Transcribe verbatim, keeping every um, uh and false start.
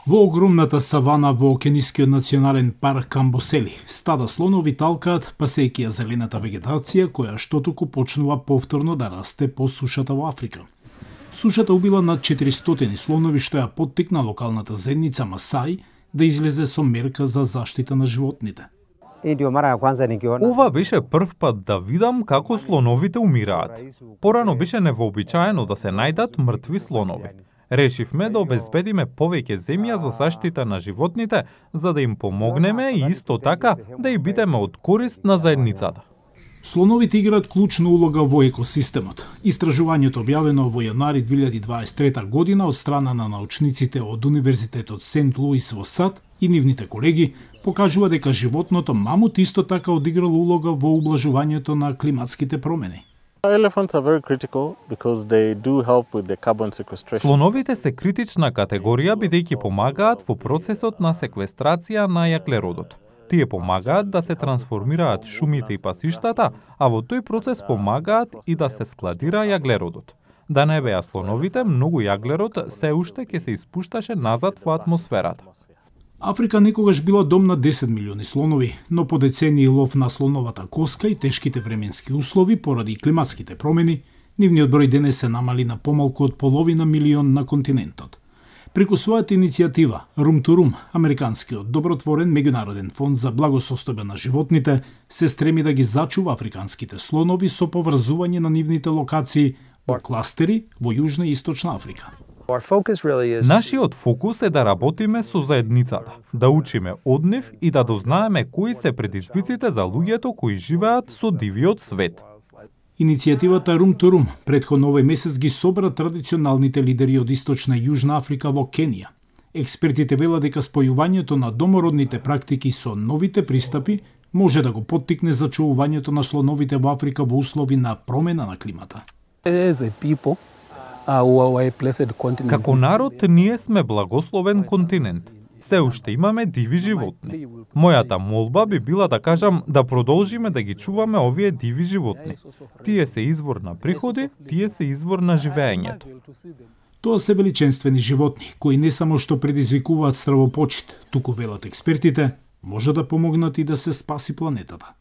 Во огромната савана во Кенискиот национален парк Камбосели, стада слонови талкаат пасејќи ја зелената вегетација која што туку почнува повторно да расте по сушата во Африка. Сушата убила над четиристотини слонови што ја поттикна локалната заедница Масаи да излезе со мерка за заштита на животните. Ова беше прв пат да видам како слоновите умираат. Порано беше невообичаено да се најдат мртви слонови. Решивме да обезбедиме повеќе земја за заштита на животните, за да им помогнеме и исто така да и бидеме од корист на заедницата. Слоновите играат клучна улога во екосистемот. Истражувањето објавено во јануари две илјади дваесет и трета година од страна на научниците од Универзитетот Сент Луис во САД и нивните колеги покажува дека животното мамут исто така одиграло улога во ублажувањето на климатските промени. Слоновите се критична категорија бидејќи помагаат во процесот на секвестрација на јаглеродот. Тие помагаат да се трансформираат шумите и пасиштата, а во тој процес помагаат и да се складира јаглеродот. Да не беа слоновите, многу јаглерод се уште ќе се испушташе назад во атмосферата. Африка некогаш била дом на десет милиони слонови, но по децении лов на слоновата коска и тешките временски услови поради климатските промени, нивниот број денес се намали на помалку од половина милион на континентот. Преку својата иницијатива Room to Room, американскиот добротворен меѓународен фонд за благосостојба на животните, се стреми да ги зачува африканските слонови со поврзување на нивните локации во кластери во Јужна и Источна Африка. Нашиот фокус е да работиме со заедницата, да учиме од нив и да дознаеме кои се предизвиците за луѓето кои живеат со дивиот свет. Иницијативата Room to Room претходно овој месец ги собра традиционалните лидери од Источна и Јужна Африка во Кенија. Експертите велат дека спојувањето на домородните практики со новите пристапи може да го поттикне зачувувањето на слоновите во Африка во услови на промена на климата. Како народ, ние сме благословен континент. Се уште имаме диви животни. Мојата молба би била да кажам да продолжиме да ги чуваме овие диви животни. Тие се извор на приходи, тие се извор на живеењето. Тоа се величенствени животни, кои не само што предизвикуваат стравопочит, туку велат експертите, може да помогнат и да се спаси планетата.